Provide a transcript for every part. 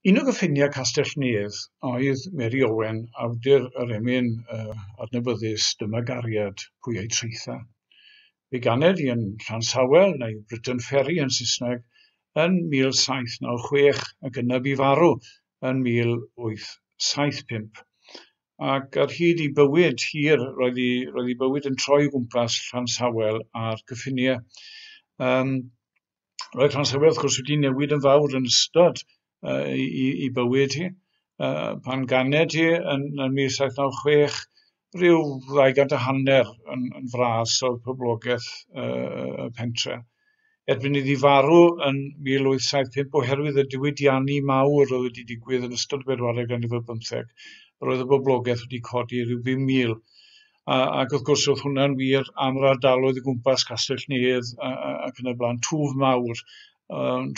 Un o gyffiniau Castell Nedd oedd Mary Owen, awdur yr emyn adnabyddus Dyma Gariad, Pwy A'i Traetha. Fe ganed hi yn Llansawel, neu Briton Ferry yn Saesneg, yn 1796 ac yna bu farw yn 1875. Ac ar hyd ei bywyd hir, roedd ei bywyd yn troi o gwmpas Llansawel a'r cyffiniau. Roedd Llansawel, wrth gwrs, wedi newid yn fawr yn ystod i bywyd hi. Pan ganed hi yn 1796, rhyw 250 yn fras oedd poblogaeth y pentre. Erbyn iddi farw yn 1875 oherwydd y diwydiannu mawr oedd wedi digwydd yn ystod y bedwaredd ganrif ar bymtheg, roedd y boblogaeth wedi codi rhyw 5,000. Ac wrth gwrs oedd hwnna'n wir am yr ardaloedd o gwmpas Castell Nedd ac yn y blaen, twf mawr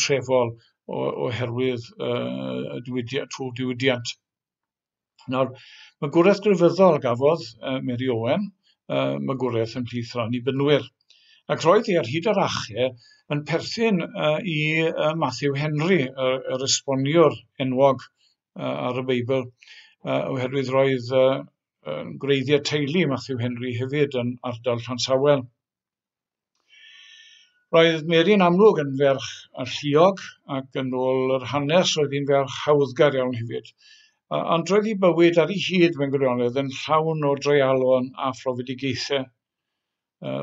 trefol oherwydd y diwydiant, twf diwydiant. Nawr, magwraeth grefyddol gafodd Mary Owen, magwraeth ymhlith yr Annibynwyr. Ac roedd hi ar hyd yr ache yn perthyn i Matthew Henry, yr esboniwr enwog ar y Beibl, oherwydd roedd gwreiddiau teulu Matthew Henry hefyd yn ardal Llansawel. Roedd Mary yn amlwg yn ferch alluog ac yn ôl yr hanes roedd hi'n ferch hawddgar iawn hefyd. Ond roedd hi bywyd ar ei hyd mewn gwirionedd yn llawn o dreialon a phrofedigaethau.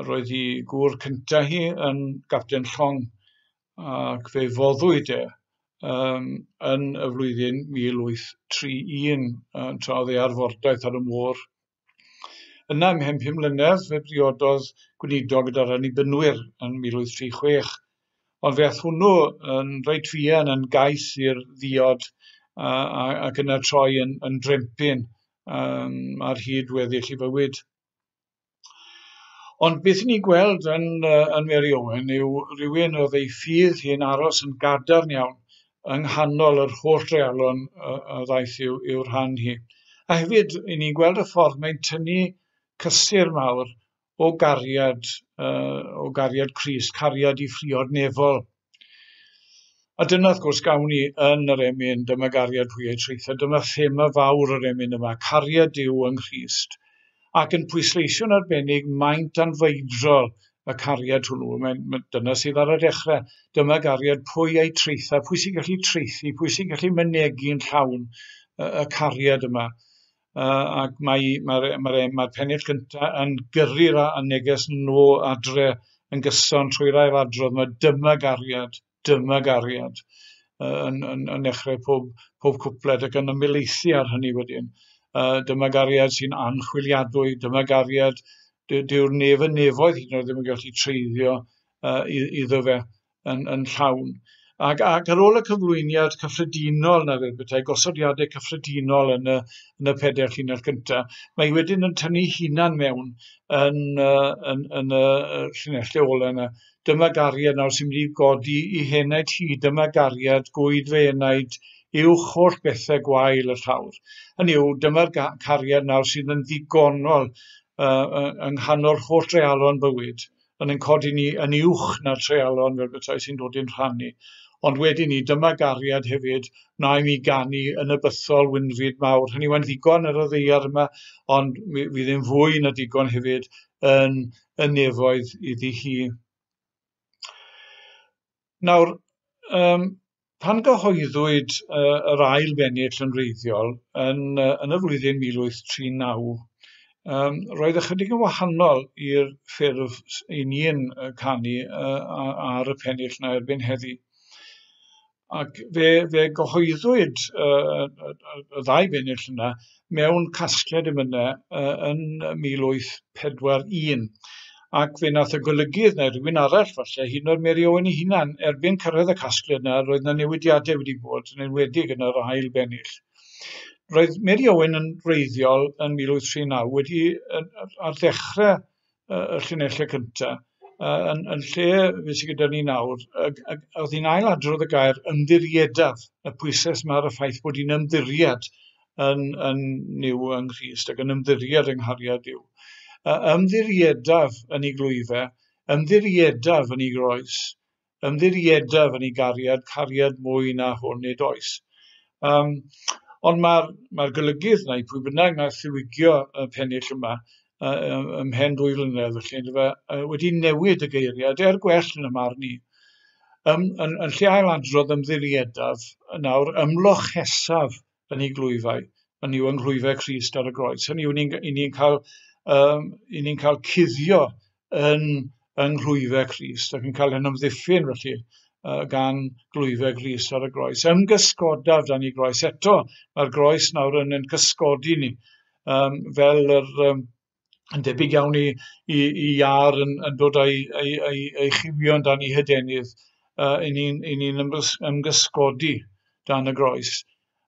Roedd hi gŵr cyntaf hi yn gapten llong ac fe foddwyd e yn y flwyddyn 1831 tra oedd ei ar fordaith ar y môr. Yna, ymhen 5 mlynedd, fe briododd gweinidog gyda'r Annibynwyr yn 1836, ond fe aeth hwnnw yn reit fuan yn gais i'r ddiod ac yna troi yn drempyn ar hyd weddill ei fywyd. Ond beth ni'n gweld yn Mary Owen yw rhywun oedd ei ffydd hi'n aros yn gadarn iawn yng nghanol yr holl dreialon a ddaeth i'w rhan hi. A hefyd, i ni'n gweld y ffordd mae'n tynnu cysur mawr o gariad Crist, cariad i phriod nefol. A dyna, wrth gwrs, gawn ni yn yr emyn, Dyma Gariad Pwy A'i Traetha, dyma thema fawr yr emyn yma, cariad Duw yng Nghrist, ac yn pwysleisio'n arbennig maint anfeidrol y cariad hwnnw. Dyna sydd ar y dechrau. Dyma gariad pwy a'i traetha, pwy sy'n gallu traethu, pwy sy'n gallu mynegi'n llawn y cariad yma. Ac mae'r pennill gyntaf yn gyrru'r neges nôl adre yn gyson trwy'r ailadrodd. Mae dyma gariad yn dechrau pob cwpled ac yn ymhelaethu ar hynny wedyn. Dyma gariad sy'n anchwiliadwy, dyma gariad dyw'r nef yn nefoedd hyd yn oed ddim yn gallu treiddio iddo fe yn llawn. Ac ar ôl y cyflwyniad cyffredinol na fel petai, gosodiadau cyffredinol yn y pedair llinell gyntaf, mae wedyn yn tynnu hunan mewn yn y llinellau ola yna. Dyma gariad nawr sy'n mynd i godi i henaid hi, dyma gariad gwyd fe enaid uwch holl bethau gwael y llawr. Hynny yw, dyma'r cariad nawr sydd yn ddigonol yng nghanol holl dreialon bywyd, yn codi ni yn uwch na'r treialon fel petai sy'n dod i'n rhannu. Ond wedyn ni, dyma gariad hefyd, wna i mi ganu yn y bythol wynfyd mawr. Hynny yw, yn ddigon ar y ddaear yma, ond fydd yn fwy na digon hefyd yn y nefoedd iddi hi. Nawr, pan gyhoeddwyd yr ail bennill yn wreiddiol yn y flwyddyn 1839, roedd ychydig yn wahanol i'r ffurf i ni'n canu ar y pennill na erbyn heddi. Ac fe gyhoeddwyd y ddau bennill yna mewn casgliad emynau yn 1841. Ac fe nath y golygydd neu rhywun arall falle, hyd yn oed Mary Owen ei hunan, erbyn cyrraedd y casgliad yna, roedd yna newidiadau wedi bod, yn enwedig yn yr ail bennill. Roedd Mary Owen yn wreiddiol yn 1839 wedi ar ddechrau y llinellau cyntaf, yn lle fe sydd gyda ni nawr, oedd hi'n ailadrodd y gair ymddiriedaf, y pwysles yma ar y ffaith bod hi'n ymddiried yn Nuw yng Nghrist ac yn ymddiried yng nghariad Duw. Ymddiriedaf yn ei glwyfau, ymddiriedaf yn ei groes, ymddiriedaf yn ei gariad, cariad mwy na hwn nid oes. Ond mae'r golygydd neu pwy bynnag nath ddiwygio y pennill yma ymhen 2 flynedd felly, yndyfe, wedi newid y geiriad er gwell yn y marn i. Yn lle ailadrodd ymddiriedaf, nawr ymlochesaf yn ei glwyfau, yn yw yng nghlwyfau Crist ar y groes. Hynny yw, ni'n cael cuddio yn nghlwyfau Crist ac yn cael ein ymddiffyn felly gan glwyfau Crist ar y groes. Ymgysgodaf dan ei groes. Eto, mae'r groes nawr yn cysgodi ni, fel yn debyg iawn i iâr yn dod â'i chywion dan ei hydenydd, i ni'n ymgysgodi dan y groes.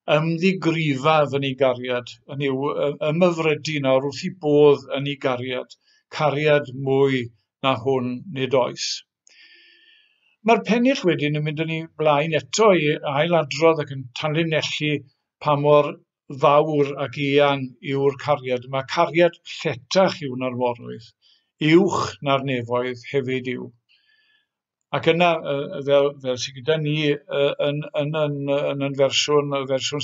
Ymddigrifaf yn ei gariad, yn yw ymhyfrydu nawr wrth ei bodd yn ei gariad, cariad mwy na hwn nid oes. Mae'r pennill wedyn yn mynd yn ei blaen eto i ailadrodd ac yn tanlinellu pa mor fawr ac eang yw'r cariad. Mae cariad lletach yw na'r moroedd, uwch na'r nefoedd hefyd yw. Ac yna, fel sydd gyda ni yn y fersiwn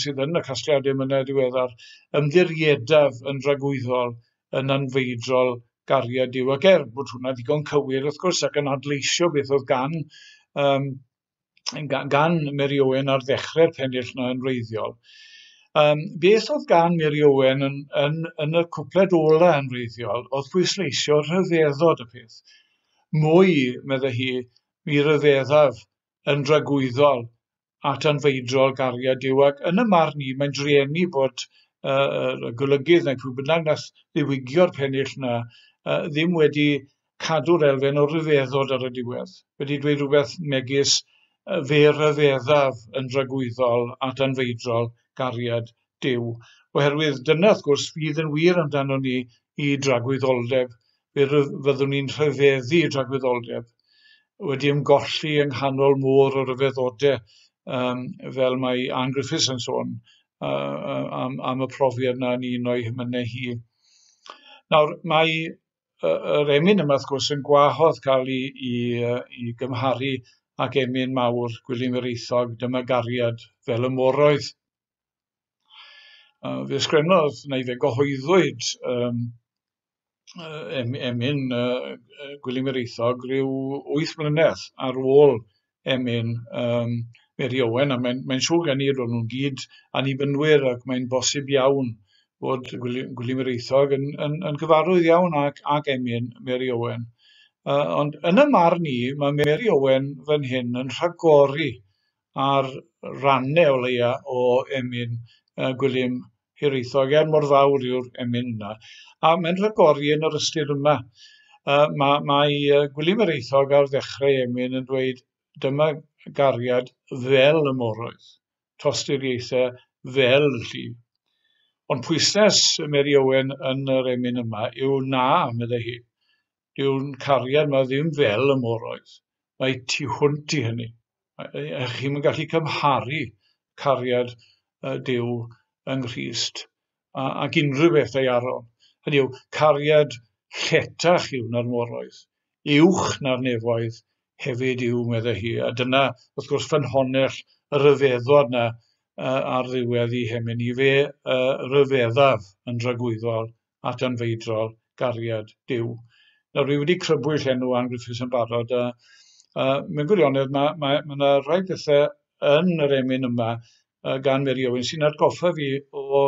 sydd yn y casgliadau emynau diweddar, ymddiriedaf yn dragwyddol yn anfeidrol gariad Duw. Ac er bod hwnna ddigon cywir, wrth gwrs, ac yn adleisio beth oedd gan Mary Owen ar ddechrau'r pennill yna yn wreiddiol. Beth oedd gan Mary Owen yn y cwpled ola yn wreiddiol oedd pwysleisio rhyfeddod y peth. Mwy, meddai hi, mi ryfeddaf yn dragwyddol at anfeidrol gariad Duw. Ac yn y marn i, mae'n drueni bod y golygydd neu pwy bynnag nath ddiwygio'r pennill yna ddim wedi cadw'r elfen o ryfeddod ar y diwedd. Wedi dweud rhywbeth megis fe ryfeddaf yn dragwyddol at anfeidrol gariad Duw. Oherwydd dyna, wrth gwrs, fydd yn wir amdano ni i dragwyddoldeb. Fe fyddwn ni'n rhyfeddu dragwyddoldeb, wedi ymgolli yng nghanol môr o ryfeddodau, fel mae Ann Griffiths yn sôn am y profiad yna yn un o'i hymynau hi. Nawr, mae yr emyn yma, wrth gwrs, yn gwahodd cael ei gymharu ag emyn mawr Gwilym Hiraethog, Dyma Gariad fel y Moroedd. Fe ysgrifennodd, neu fe gyhoeddwyd emyn Gwilym Hiraethog rhyw 8 mlynedd ar ôl emyn Mary Owen, a mae'n siŵr gen i roedd nhw'n gyd annibynwyr, ac mae'n bosib iawn bod Gwilym Hiraethog yn gyfarwydd iawn ag emyn Mary Owen. Ond yn y marn i, mae Mary Owen fan hyn yn rhagori ar rannau o leia o emyn Gwilym Hiraethog, er mor fawr yw'r emyn yna. A mae'n rhagori yn yr ystyr yma. Mae Gwilym Hiraethog ar ddechrau emyn yn dweud, dyma gariad fel y moroedd, tosturiaethau fel y llif. Ond pwyslais Mary Owen yn yr emyn yma yw na, meddai hi. Dyw'n cariad yma ddim fel y moroedd. Mae tu hwnt i hynny. Chi'm yn gallu cymharu cariad Duw yng Nghrist ac unrhyw beth ddaearol. Hynny yw, cariad lletach yw na'r moroedd, uwch na'r nefoedd hefyd yw, meddai hi. A dyna, wrth gwrs, ffynhonnell y ryfeddod yna ar ddiwedd ei hemyn i. Fe ryfeddaf yn dragwyddol at anfeidrol gariad Duw. Nawr, dwi wedi crybwyll enw Ann Griffiths yn barod, a mewn gwirionedd mae yna rhai pethau yn yr emyn yma gan Mary Owen sy'n atgoffa fi o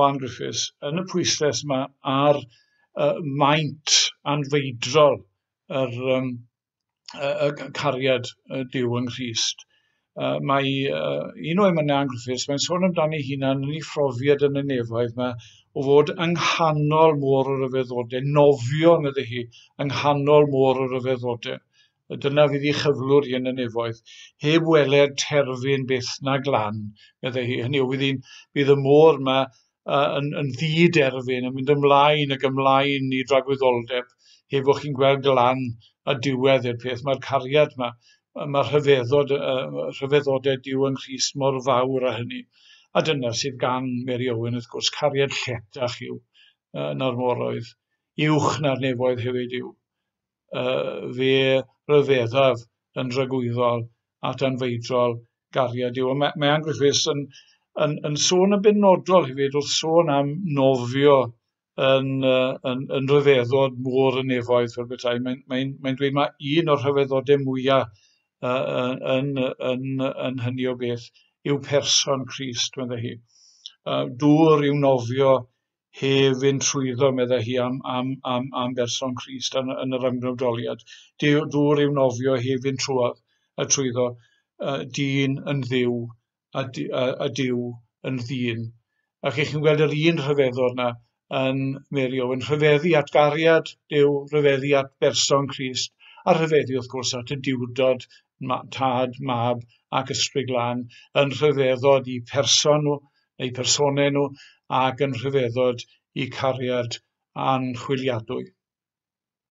Ann Griffiths yn y pwyslais yma ar maint anfeidrol yr cariad Duw yng Nghrist. Mae un o emynau Ann Griffiths, mae'n sôn amdani hunan yn ei phrofiad yn y nefoedd yma o fod yng nghanol môr o ryfeddodau, nofio, meddai hi, yng nghanol môr o ryfeddodau. Dyna fydd ei chyflwr hi yn y nefoedd, heb weled terfyn byth na glan, meddai hi. Hynny yw, bydd y môr yma yn ddiderfyn, yn mynd ymlaen ac ymlaen i dragwyddoldeb, heb fod chi'n gweld glan a diwedd i'r peth. Mae'r cariad yma, mae'r rhyfeddodau Duw yng Nghrist mor fawr â hynny. A dyna sydd gan Mary Owen, wrth gwrs, cariad lletach yw na'r moroedd, uwch na'r nefoedd hefyd yw. Fe ryfeddaf yn dragwyddol at anfeidrol gariad Duw. Mae Ann Griffiths yn yn, yn sôn yn benodol hefyd wrth sôn am nofio yn, yn, yn rhyfeddod môr y nefoedd fel bethau. Mae'n mae, mae dweud mae un o'r rhyfeddodau mwyaf yn, yn, yn, yn hynny o beth yw person Crist, meddai hi. Dŵr yw nofio hef fynd trwyddo, meddai hi, am, am, am, am berson Crist yn, yn yr ymgnawdoliad. Dŵr yw nofio hef fynd trwodd, a trwyddo, dyn yn ddiw a, a, a diw yn ddyn. Ac chi'n gweld yr un rhyfeddod yna yn Mary Owen, rhyfeddu at gariad Duw, rhyfeddu at berson Crist, a rhyfeddu wrth gwrs at y diwdod, tad, mab ac ysbryd glân, yn rhyfeddod i person nhw, neu personau nhw, ac yn rhyfeddod i cariad anchwiliadwy.